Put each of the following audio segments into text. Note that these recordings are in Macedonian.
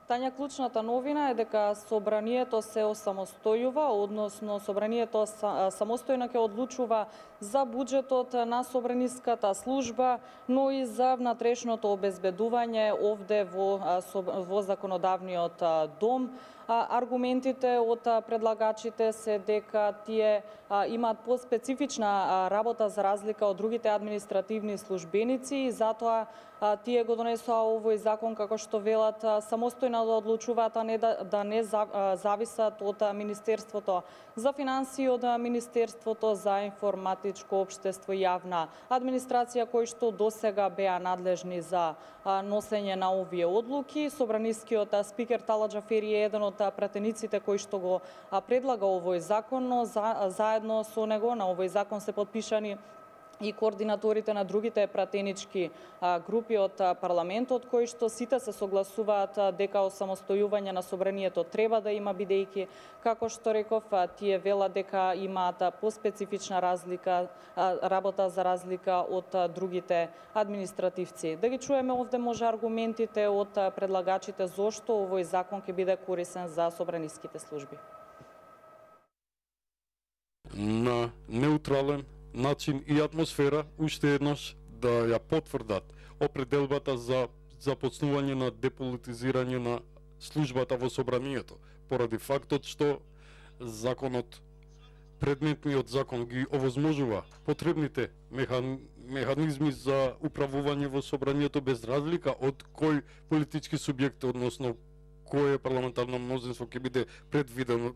Тања, клучната новина е дека собранието се осамостојува, односно собранието самостојно ќе одлучува за буџетот на собраниската служба, но и за внатрешното обезбедување овде во законодавниот дом. Аргументите од предлагачите се дека тие имаат поспецифична работа за разлика од другите административни службеници и затоа тие го донесоа овој закон како што велат самостојно да одлучуваат, а не да не зависат од Министерството за финансии, од Министерството за информатичко општество и јавна администрација, кои што досега беа надлежни за носење на овие одлуки. Собранискиот спикер Талат Џафери е еден од пратениците кои што го предлага овој закон, но заедно со него на овој закон се подпишани и координаторите на другите пратенички групи од парламентот, кои што сите се согласуваат дека осамостојување на собранието треба да има, бидејќи, како што реков, тие велат дека имаат поспецифична работа за разлика од другите административци. Да ги чуеме овде може аргументите од предлагачите зошто овој закон ќе биде корисен за собраниските служби. На неутрален начин и атмосфера уште еднаш да ја потврдат определбата за започнување на деполитизирање на службата во собранието, поради фактот што законот, предметниот закон ги овозможува потребните механизми за управување во собранието без разлика од кој политички субјект, односно кое парламентарно мнозинство ќе биде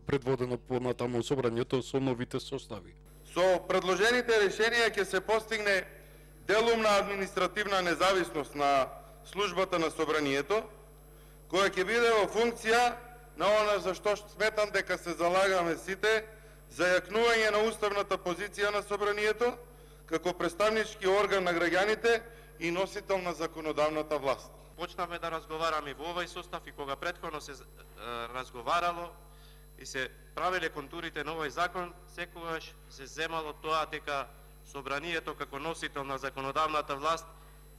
предводено понатаму собранието со новите состави. Со предложените решенија ќе се постигне делумна административна независност на службата на собранието, која ќе биде во функција на она за што сметам дека се залагаме сите, за јакнување на уставната позиција на собранието како представнички орган на граѓаните и носител на законодавната власт. Почнавме да разговараме во овој состав и кога претходно се разговарало и се правеле контурите на овој закон, секогаш се земало тоа дека собранието како носител на законодавната власт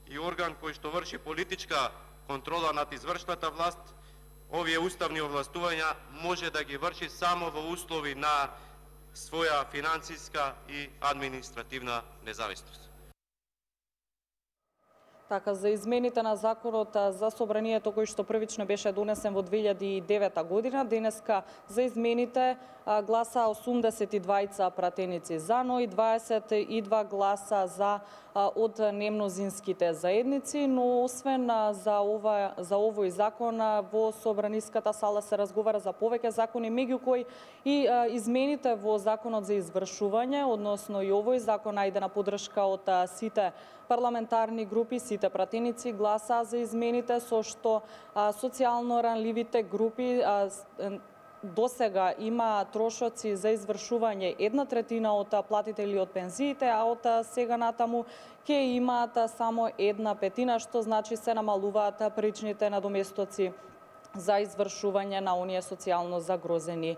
и орган кој што врши политичка контрола над извршната власт, овие уставни овластувања може да ги врши само во услови на своја финансиска и административна независност. Така, за измените на законот за собранието кој што првично беше донесен во 2009 година, денеска за измените гласа 82 пратеници за, но и 22 гласа за од немнозинските заедници, но освен за овој закон во собраниската сала се разговара за повеќе закони, меѓу кои и измените во законот за извршување, односно и овој закон најде на поддршка од сите парламентарни групи, сите пратеници гласа за измените, со што социјално ранливите групи досега има трошоци за извршување 1/3 од платите или од пензиите, а од сега натаму ќе имаат само 1/5, што значи се намалуваат паричните надоместоци за извршување на оние социјално загрозени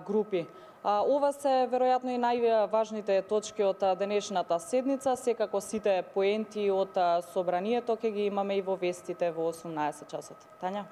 групи. Ова се веројатно и најважните точки од денешната седница. Секако сите поенти од собранието ќе ги имаме и во вестите во 18 часот. Тања?